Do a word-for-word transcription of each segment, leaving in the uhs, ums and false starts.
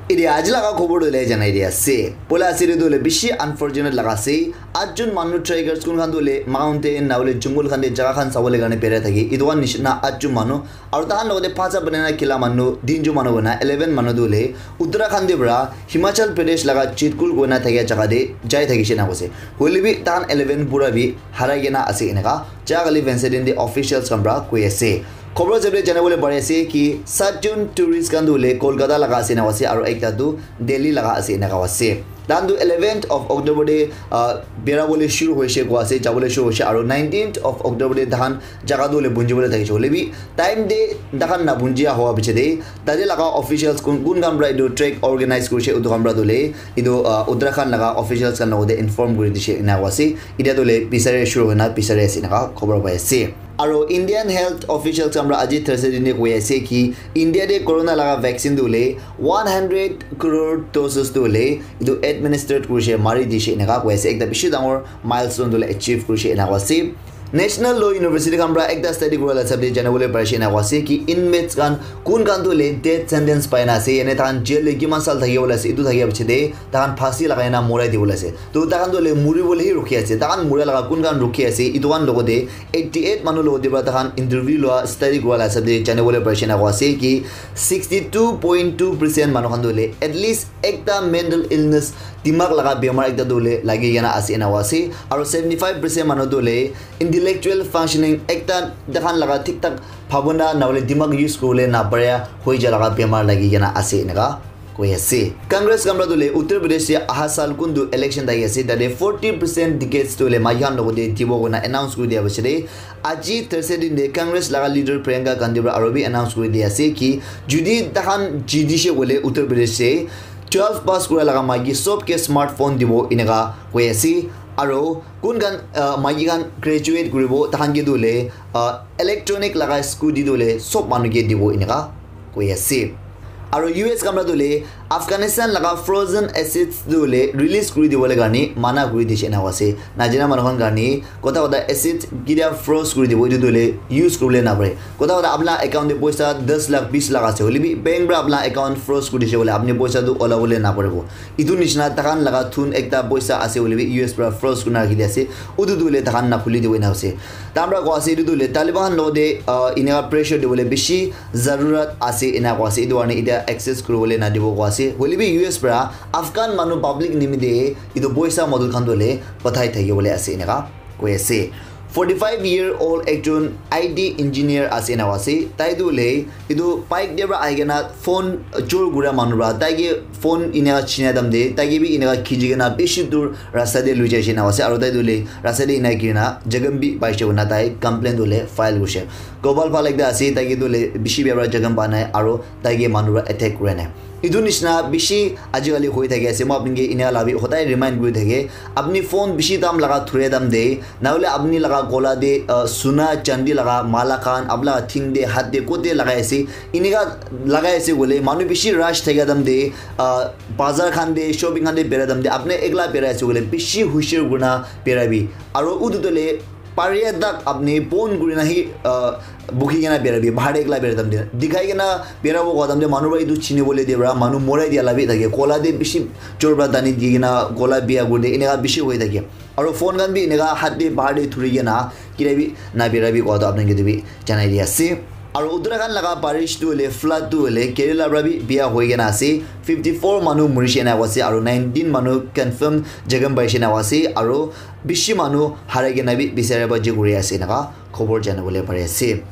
Etia aji laga khobor tu le janai dia ase. Poila ase tu le bishi unfortunate laga ase. Atjon manu trekkers kun khan tu le mountain na le jungle khan te jaga khan sabole karne berai thaki. Etu khan nishina atjon manu. Aru tahan logote pacha banana kila manu, tinjon manu kona eleven manu tu le Uttarakhand te para Himachal Pradesh laga Chitkur kona thakia jaga te jai thakishe na kose. Hoile bi tahan eleven pura bi harai kena ase eneka. Jagali Vincent de officials khan para koi ase. Khobor jab jane bole pare ase ki satjon tourist khan tu le Kolkata laga ase na ase aru ekta tu Delhi laga ase eneka ase. Tahan tu eleventh of October de uh, bera bole shuru hoise koi ase, jabole shuru hoise aru nineteenth of October de tahan jaga tu le bunji bole thakishe. Hoile bi time de tahan na bunji hoa piche de tate laga officials kun kun khan para etu trek organize kurise etu khan para tu le etu uh, Uttarakhand laga officials khan logote inform kuri dishe eneka ase. Etia tu le bisari shuru hoina bisari ase eneka khobor pai ase. Aro Indian health officials khan para aji Thursday dine koi ase ki India de corona laga vaccine tu le one hundred crore doses tu le etu administered kurise mari dishe eneka koi ase. Ekta bishi dangor milestone tu le achieve kurise eneka ase. National Law University khan para ekta study kura la hisab de jane bole parise eneka ase ki inmates khan kun khan tu le death sentence pai na ase, yane tahan jail le kiman sal thaki bole ase, etu thaki piche de tahan phasi lagai na morai di bole ase. To tahan tu le muri bole hi rukhi ase, tahan mura laga kun khan rukhi ase, etu khan logote eighty eight manu logote para tahan interview lua study kura la hisab de jane bole parise eneka ase ki sixty two point two percent manu khan tu le at least ekta mental illness dimag laga bemar ekta tu le lagi kena ase eneka ase. Aro seventy five percent manu tu le intellectual functioning ekta tahan laga thik thak bhabona na bole dimag use kuri bole na pare hoi ja laga bemar lagi kena ase eneka koi ase. Congress khan para tu le Uttar Pradesh te aha sal kun tu election thaki ase tate forty percent tickets tu le maiki khan logote dibo koi na announce kuri dia piche de aji Thursday din de Congress laga leader Priyanka Gandhi para aro bi announce kuri dia ase ki judi tahan jidishe bole Uttar Pradesh te twelve pass kura laga maiki sob ke smartphone dibo eneka koi ase. Aro kun khan uh, maiki khan graduate kuribo tahan ke tu le uh, electronic laga scooty tu le sob manu ke dibo eneka koi ase. Aro U S khan para tu le Afghanistan laga frozen assets tu le release kuri dibole karne mana kuri dishe eneka ase. Najana manu khan karne kota kota assets kitia froze kuri dibo etu tu le use kuri bole na pare. Kota kota apna account de poisa das lakh bis lakh ase hoile bi bank para apna account froze kuri dishe bole apni poisa tu ola bole na paribo. Etu nishina tahan laga thun ekta poisa ase hoile bi U S para froze kuri na rakhi dia ase. Utu tu le tahan na khuli dibo eneka ase. Tahan para koi ase etu tu le Taliban khan logote uh, eneka pressure dibole bishi zarurat ase eneka koi ase. Etu karne etia access kuri bole na dibo koi ase. Hoile bi U S para Afghan manu public nimite etu poisa model khan tu le pathai thaki bole ase eneka koi ase. Forty five year old ekjon I T engineer ase eneka ase. Tai tu le etu bike de para ahi kena phone chor kura manu para tai ke phone eneka china time de tai ke bi eneka khichi kena bishi dur rasta de lui jaise eneka ase. Aro tai tu le rasta de eneka giri na jakham bi paise koi na tai complaint tu le file kurise. Gopal Pal ekta ase, tai ke tu le bishi bia para jakham pa nai aro tai ke manu para attack kura nai. Etu nishina bishi ajikali hoi thaki ase. Moi apni ke eneka la bi hodai remind kuri thake. Apni phone bishi dam laga thura time de, na hole apni laga gola de uh, suna chandi laga mala khan, apni laga thing de, hat de, kote lagai ase. Eneka lagai ase koile manu bishi rush thaka time de, uh, bazar khan de, shopping khan de bera time de, apni ekla bera ase koile bishi hushar kurina bera bi. Aro utu tu le paria tak apni pon kurina hi uh, bukhi kena bera bi, bahar de ekla bera time de. Dikhai kena bera bo koi time de manu para etu chini bole de para manu morai dia la bi thake. Gola de bishi jor para tani di kena gola bia kuri de eneka bishi hoi thake. Aro phone khan bi eneka hat de bahar de thuri kena kira bi na bera bi koi to apni ke tu bi janai di ase. Aro Uttarakhand laga parish tu hoile flood tu hoile Kerala para bi bia hoi kena ase. Fifty four manu murishe na ase aro nineteen manu confirm jakham paishe na ase aro bishi manu harai kena bi bisari baji kuri ase eneka khobor jana bole pari ase.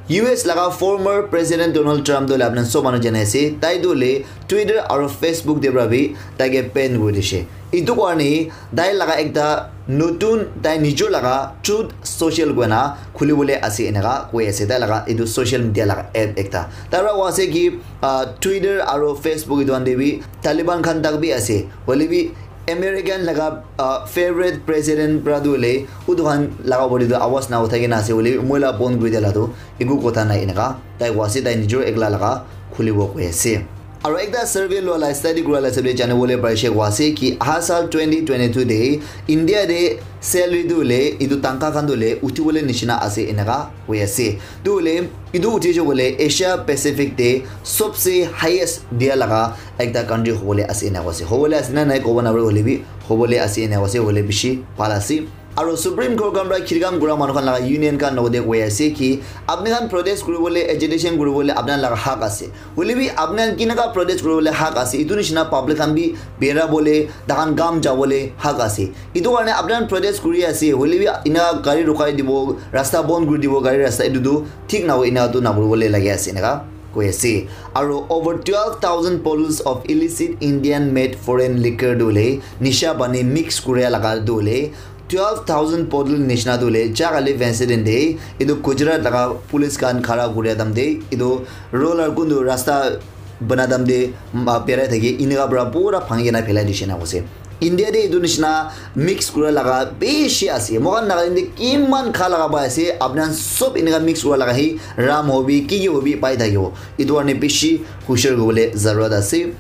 U S laga former President Donald Trump tu hoile apni sob manu jana ase, tai tu hoile Twitter aro Facebook de para bi tai ke ban kuri dishe. Etu karne tai laga ekta notun tai nijor laga Truth Social koina khuli bole ase eneka koi ase, tai laga etu social media laga app ekta. Tai para koi ase ki uh, Twitter aro Facebook etu khan de bi Taliban khan tak bi ase, hoile bi American laga uh, favorite president para tu hoile utu khan laga body tu awas na uthai kena ase hoile moi la bon kuri dia la tu eku kotha nai eneka tai koi ase, tai nijor ekla laga khulibo koi ase. Aru ekta survey lua la study kura la hisab de jani bole parise koi ase ki aha sal twenty twenty-two de India de salary tu le etu tangka khan tu le uthi bole nishina ase enaka koi ase. Tu le etu uthi je bole Asia Pacific de sobse highest dia laga ekta country hobole ase ena koi ase. Hobole ase na nai kobo na pare hoile bi hobole ase ena koi ase, hoile bishi bhal ase. Aru Supreme Court khan para khirkam kura manu khan laga union khan logode koi ase ki apni khan protest kuribole, agitation kuribole apni khan laga hak ase. Hoile bi apni khan kinaka protest kuribole hak ase, itu nishina public khan bi bera bole, tahan gam jabole hak ase. Itu karne apni khan protest kuri ase, hoile bi ina gari rukai dibo, rasta bon kuri dibo, gari rasta itu tu thik na hoi, ina tu na kuribole lage ase enaka koi ase. Aru over twelve thousand bottles of illicit Indian made foreign liquor tu le nisha pani mix kuria laga tu le twelve thousand bottle nishina tu le jagale vense din de itu Gujarat laga police khan khara kuria dam de itu roller kundu rasta bana dam de berai thaki inika para pura bhangi kena phelai dishe na koi ase. India de itu nishina mix kura laga bishi ase. Moikhan Nagaland de kiman kha laga pai ase, apni khan sob inika mix kura laga hi rum hobi, ki ki hobi pai thakibo. Itu karne bishi hushiar hobole zarurat ase.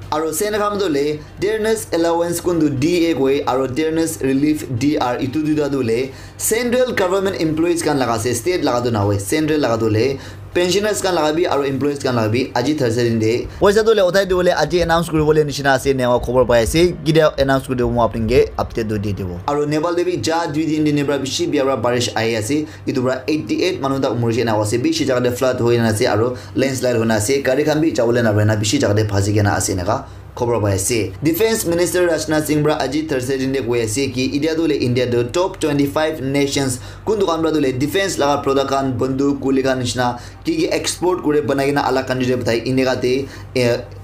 Aru sen khan tu le tearness allowance kuntu D A koi aru tearness relief D R itu duita tu le central government employees khan laga ase, state laga tu na hoi, central laga tu le pensioners khan laga bi aru employees khan laga bi aji Thursday din de poisa tu le uthai dibole aji announce kuribole nishina ase ena khobor pai ase. Kidia announce kuri dibo moi apni ke update tu di dibo. Aru Nepal de bi ja dui din din para bishi bia para barish ahi ase. Itu para eighty eight manu tak murishe ena ase. Bishi jaga de flood hoi na ase aru landslide hoi na ase. Gari khan bi jabole na pare na bishi jaga de phasi kena ase enaka khobor pai ase. Defense Minister Rajnath Singh para aji Thursday din de koi ase ki idia tu le India tu top twenty five nations kuntu khan para tu le defense laga product khan, banduk, guli khan nishina ki ki export kure banai kena alag country de pathai eneka te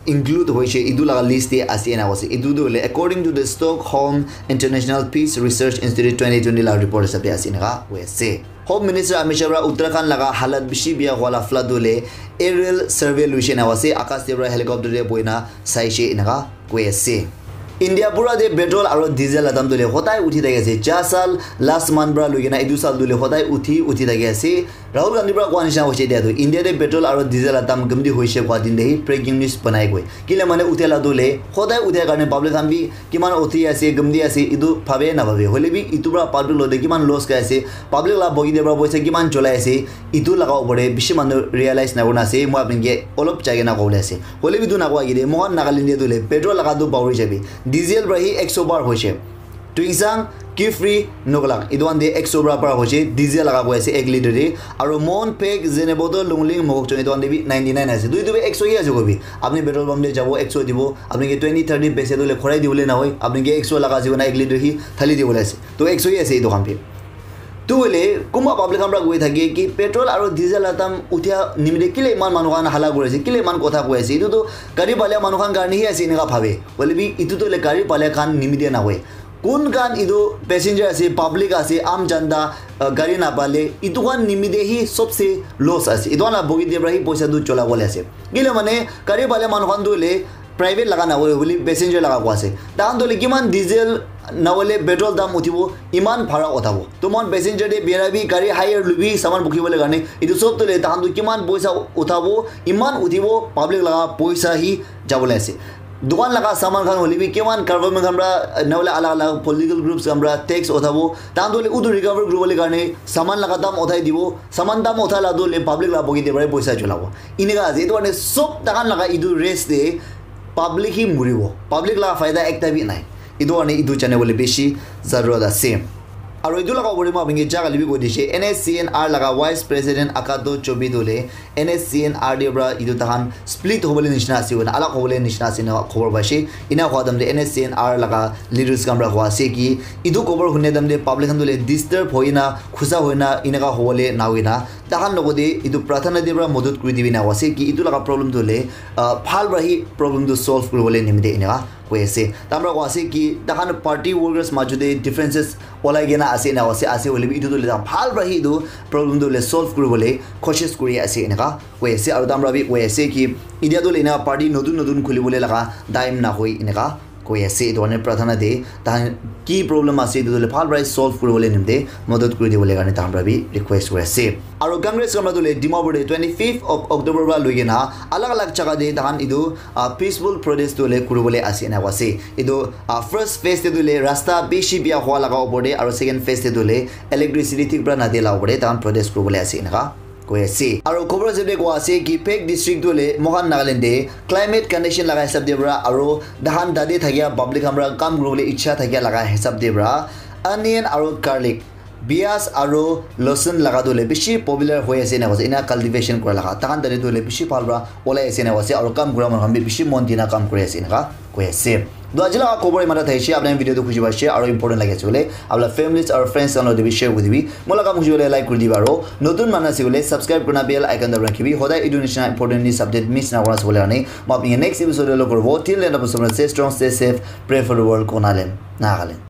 include hoise, itu laga list te ase ena koi ase. Itu tu le according to the Stockholm International Peace Research Institute twenty twenty laga report hisab de ase eneka koi ase. Home Minister Amit Shah para Uttarakhand laga halat bishi bia hua la flood tu le aerial survey luishe ena koi ase, akas te para helicopter te bohi na saishe eneka koi ase. India pura de petrol aru diesel la dam tu le hodai uthi thaki ase. Ja sal last month para lui kena itu sal tu le hodai uthi uthi thaki ase. Rahul Gandhi para koa nishina hoise dia tu India de petrol aru diesel la dam gumdi hoise koa din de hi breaking news banai koi. Kile mane uthia la tu le hodai uthia karne public khan bi kiman uthi ase, gumdi ase, itu bhabe na bhabe. Hoile bi itu para public lo de kiman loss kai ase, public la bogi de para poisa kiman cholai ase, itu laga upor de bishi manu realize na kurina ase. Moi apni ke olop jai kena kobole ase. Hoile bi tu na koi kile, moikhan Nagaland de tu le petrol laga tu bahuri jabi. Diesel para hi ekso bar hoise. Tuensang, Kiphire, Noklak. Itu khan de ekso para para hoise, diesel laga koi ase ek liter de. Aru Mon, Phek, Zunheboto, Lungling, Mokokchung itu khan de bi ninety nine ase. Tu itu bi ekso hi ase kobi. Apni petrol pump de jabo ekso dibo. Apni ke twenty thirty paise tu le khorai dibole na hoi. Apni ke ekso laga ase koina ek liter hi thali dibole ase. To ekso hi ase itu khan bi. Tu hoile kunba public khan para koi thake ki petrol aru diesel la dam uthia nimite kile iman manu khan hala kuri ase, kile iman kotha koi ase. Itu tu gari pale manu khan karne hi ase eneka bhabe. Hoile bi itu tu hoile gari pale khan nimite na hoi. Kun khan itu passenger ase, public ase, aam janta, uh, gari napale, itu khan nimite hi sobse loss ase. Itu khan la bogi de para hi poisa tu chola bole ase. Kile mane gari pale manu khan tu hoile private laga na hoile passenger laga koi ase. Tahan tu hoile kiman diesel na hoile petrol dam uthibo, iman bhara uthabo. To mon passenger de bera bi gari hire lubi saman bukhi bole karne. Itu sob tu hoile tahan tu kiman poisa uthabo, iman uthibo, public laga poisa hi jabole ase. Dukan laga saman khan hoile bi kiman government khan para na hoile alag alag political groups khan para tax uthabo. Tahan tu hoile utu recover kuri bole karne saman laga dam uthai dibo. Saman dam uthai la tu hoile public la bogi de para poisa cholabo. Eneka ase. Itu karne sob tahan laga itu race de public hi muribo. Public laga faida ekta bi nai. Itu karne itu jane bole bishi zarurat ase. Aru itu laga upor de moi apni ke jaga libi koi dishe, N S C N R laga Vice President Akato Chobi tu hoile N S C N R de para itu tahan split hobole nishina ase koina, alag hobole nishina ase na khobor paise. Ina hua dam de N S C N R laga leaders khan para hua ase ki itu khobor hune dam de public khan tu hoile disturb hoina, khusa hoina, eneka hobole na hoina. Tahan logote itu prathana de para modot kuri dibi na ase ki itu laga problem tu hoile, ah, bhal para hi problem tu solve kuri bole nimite eneka koi ase. Tamra koi ase ki tahan party workers majo de differences olai kena ase na ase, ase hoile bi itu tu leta bhal para hi itu problem tu le solve kuri bole koshish kuri ase eneka koi ase. Aru tamra bi koi ase ki idia tu lena party notun notun khuli bole laga time na hoi eneka koi ase. Etu karne pratana te tahan ki problem ase etu tu le bhal para solve kuribole nimite madad kuri dibole karne tahan para bi request kuri ase. Aro Congress khan para tu le Dimapur te twenty fifth of October para loi kena alag alag jaga te tahan etu uh, peaceful protest tu le kuribole ase ena koi ase. Etu uh, first phase te tu le rasta bishi bia hua laga opor te aro second phase te tu le electricity thik para nadia la opor te tahan protest kuribole ase enaka koi ase. Aro khobor ase de koi ase ki Phek district tu le mohan Nagaland te climate condition laga hisab de para aro dahan tate thakia public khan para kam kuribole ichha thakia laga hisab de para onion aro garlic, bias aro losun laga tu le bishi popular hoi ase ena koi ase. Ena cultivation kura laga tahan tate tu le bishi bhal para olai ase ena koi ase aro kam kura manu khan bi bishi mon dina kam kuri ase enaka koi ase. To aji laga khobor imata thaishe, apni video tu khushi paishe aro important lagi ase bole apni families aro friends khan loi bi share kuri dibi. Moi laga kam khushi bole like kuri dibi aro notun manu ase bole subscribe kurina bell icon dabana rakhibi. Hodai etu nishina important news update miss na kura ase bole karne moi apni next episode te log koribo. Till then, apni sabse strong, stay safe, pray for the world, Konaland, Nagaland.